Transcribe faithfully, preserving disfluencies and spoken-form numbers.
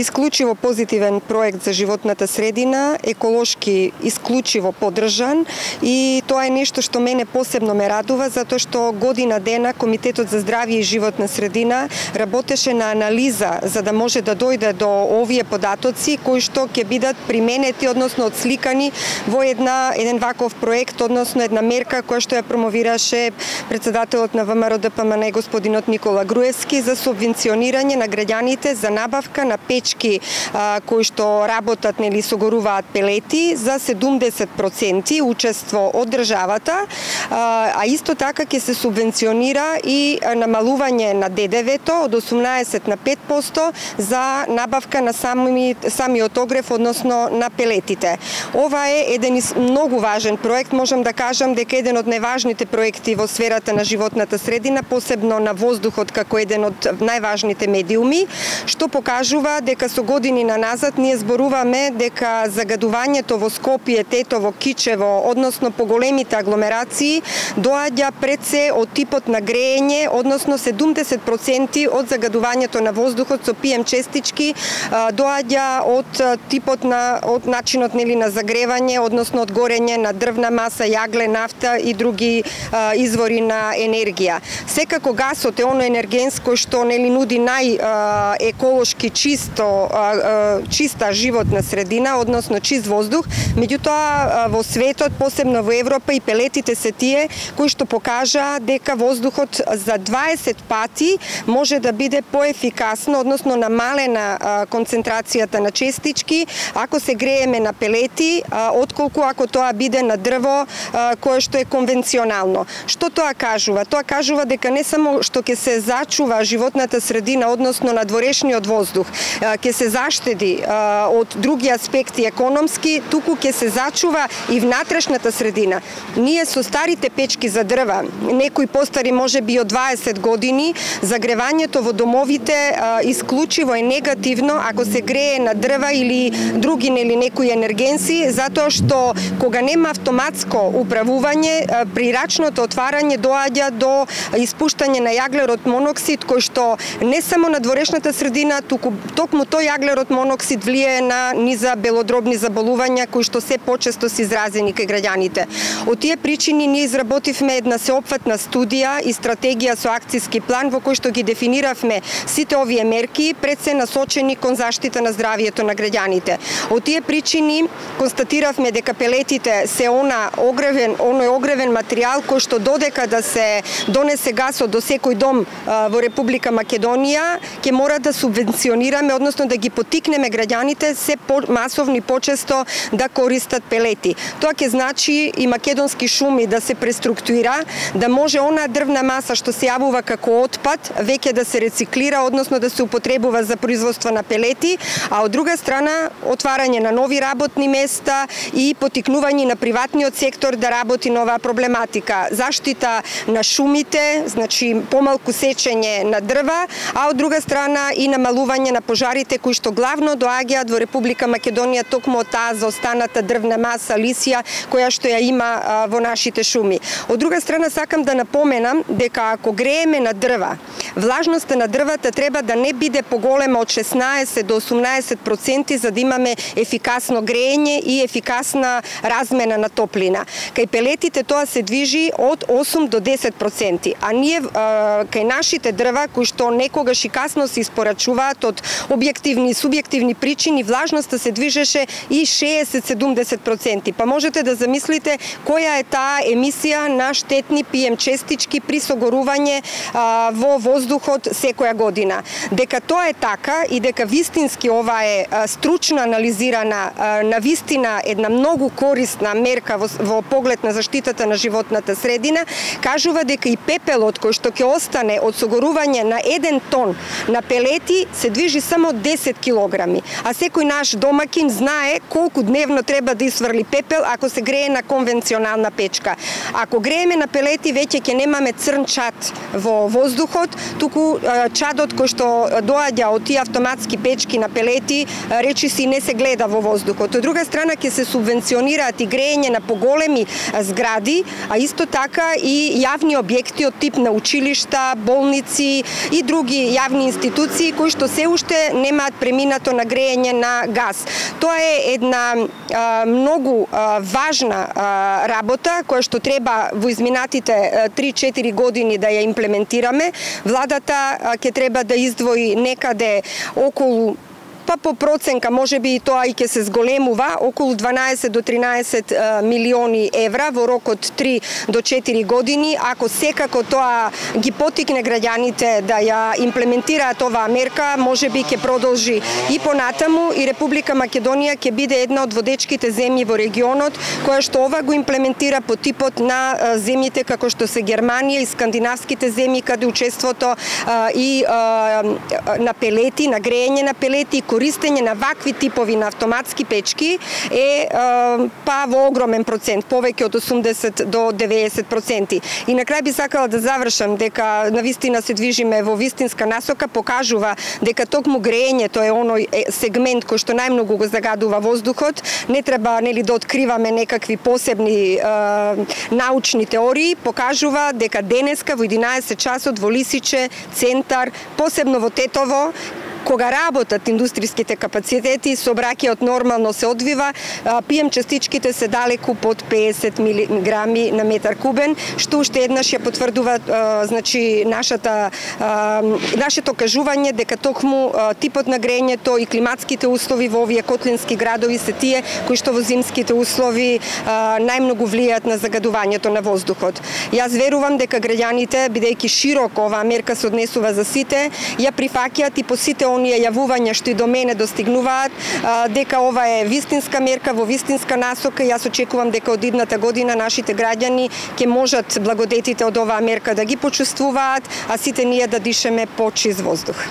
исклучиво позитивен проект за животната средина, еколошки исклучиво поддржан, и тоа е нешто што мене посебно ме радува, затоа што година дена Комитетот за здравје и животна средина работеше на анализа за да може да дојде до овие податоци кои што ќе бидат применети, односно отсликани во една еден ваков проект, односно една мерка која што ја промовираше председателот на ВМРО-ДПМН господинот Никола Груевски за субвенционирање на граѓаните за набавка на печки а, кои што работат, нели, согоруваат пелети за седумдесет проценти учество од државата, а, а исто така ќе се субвенционира и намалување на ДДВ-то од осумнаесет на пет проценти за набавка на сами, самиот огрев, односно на пелетите. Ова е еден многу важен проект, можам да кажам дека еден од најважните проекти во сферата на животната средина, посебно на воздухот како еден од најважните медиуми, што покажува дека со години наназад ние зборуваме дека загадувањето во Скопје, Тетово, Кичево, односно поголемите агломерации, доаѓа пред се од типот на греење, односно седумдесет проценти од загадувањето на воздухот со пи ем честички доаѓа од типот на од начинот, нели, на загревање, односно од горење на дрвна маса, јагле, нафта и други а, извори на енергија. Секако гасот е оно енергенско што, нели, нуди нај а, еколошки чисто а, а, чиста животна средина, односно чист воздух, меѓутоа во светот, посебно во Европа, и пелетите се тие кои што покажа дека воздухот за дваесет пати може да биде поефикасно, односно намалена а, концентрацијата на честички ако се грееме на пелети, а, отколку ако тоа биде на дрво а, кое што е конвенционално. Што тоа кажува? Тоа кажува дека не само што ќе се зачува животната средина, односно надворешниот воздух, а, ќе се заштеди а, од други аспекти економски, туку ќе се зачува и внатрешната средина. Ние со старите печки за дрва, некои постари можеби од дваесет години, загревањето во домовите а, исклучиво е негативно ако се грее на дрва или други, нели, некои енергенси, затоа што кога нема автоматско управување, при рачното отварање доаѓа до испуштање на јаглерод моноксид, кој што не само на дворешната средина, туку токму тој јаглерод моноксид влијае на низа белодробни заболувања кои што се почесто се изразени кај граѓаните. Од тие причини ние изработивме една сеопфатна студија и стратегија со акциски план во кој што ги дефиниравме сите овие мерки, пред се насочени кон заштита на здравието на граѓаните. Од тие причини констатиравме дека пелетите се она огревен, оној огревен материјал кој што додека да се донесе гасот до секој дом а, во Република Македонија, ќе мора да субвенционираме, односно да ги поттикнеме граѓаните се по масовни почесто да користат пелети. Тоа ќе значи и Македонски шуми да се преструктуира, да може она дрвна маса што се јавува како отпад веќе да се рециклира, односно да се употребува за производство на пелети, а од друга страна отварање на нови работни места и поттикнување на приватниот сектор да работи на оваа проблематика. Заштита на шумите, значи помалку сечење на дрва, а од друга страна и намалување на пожарите кои што главно доаѓаат во Република Македонија токму од таа заостаната дрвна маса, лисија, која што ја има а, во нашите шуми. Од друга страна сакам да напоменам дека ако грееме на дрва, влажноста на дрвата треба да не биде поголема од шеснаесет до осумнаесет проценти за да имаме ефикасно греење и ефикасна размена на топлина. Кај пелетите тоа се движи од осум до десет проценти, а ние а, кај нашите дрва кои што некогаш и касно се испорачуваат од објективни и субјективни причини, влажноста се движеше и шеесет до седумдесет проценти. Па можете да замислите која е таа емисија на штетни пи ем честички при согорување а, во воздухот секоја година. Дека тоа е така и дека вистински ова е а, стручно анализирана, а, на вистина една многу корисна мерка во, во поглед на заштитата на животната средина, кажува дека и пепелот кој што ќе остане од согорување на еден тон на пелети се движи само десет килограми, а секој наш домакин знае колку дневно треба да исврли пепел ако се грее на конвенционална печка. Ако грееме на пелети, веќе ќе немаме црн чад во воздухот, туку чадот кој што доаѓа од тие автоматски печки на пелети, речиси не се гледа во воздухот. Од друга страна ќе се субвенционираат и греење на поголеми згради, а исто така и јавни објекти од тип на училишта, болници и други јавни институции кои што се уште не немаат преминато на грејење на газ. Тоа е една а, многу а, важна а, работа која што треба во изминатите три-четири години да ја имплементираме. Владата ќе треба да издвои некаде околу, па по проценка, може би и тоа и ќе се зголемува, околу дванаесет до тринаесет милиони евра во рок од три до четири години. Ако секако тоа ги потикне граѓаните да ја имплементираат оваа мерка, може би ќе продолжи и понатаму и Република Македонија ќе биде една од водечките земји во регионот која што ова го имплементира по типот на земјите како што се Германија и скандинавските земји, каде учеството и на пелети, на грејење на пелети, користење на вакви типови на автоматски печки е па во огромен процент, повеќе од осумдесет до деветдесет проценти. И на крај би сакала да завршам дека навистина се движиме во вистинска насока, покажува дека токму грејењето е оној сегмент кој што најмногу го загадува воздухот. Не треба нели да откриваме некакви посебни е, научни теории, покажува дека денеска во единаесет часот во Лисиче, центар, посебно во Тетово, кога работат индустријските капацитети, сообраќајот нормално се одвива, пи ем частичките се далеку под педесет милиграми на метар кубен, што уште еднаш ја потврдува значи нашата нашето кажување дека токму типот на грејењето и климатските услови во овие котлински градови се тие кои што во зимските услови најмногу влијаат на загадувањето на воздухот. Јас верувам дека граѓаните, бидејќи широко оваа мерка се однесува за сите, ја прифаќаат и по сите оние јавувања што и до мене достигнуваат, дека ова е вистинска мерка во вистинска насока. Јас очекувам дека од идната година нашите граѓани ќе можат благодетите од оваа мерка да ги почувствуваат, а сите ние да дишеме почист воздух.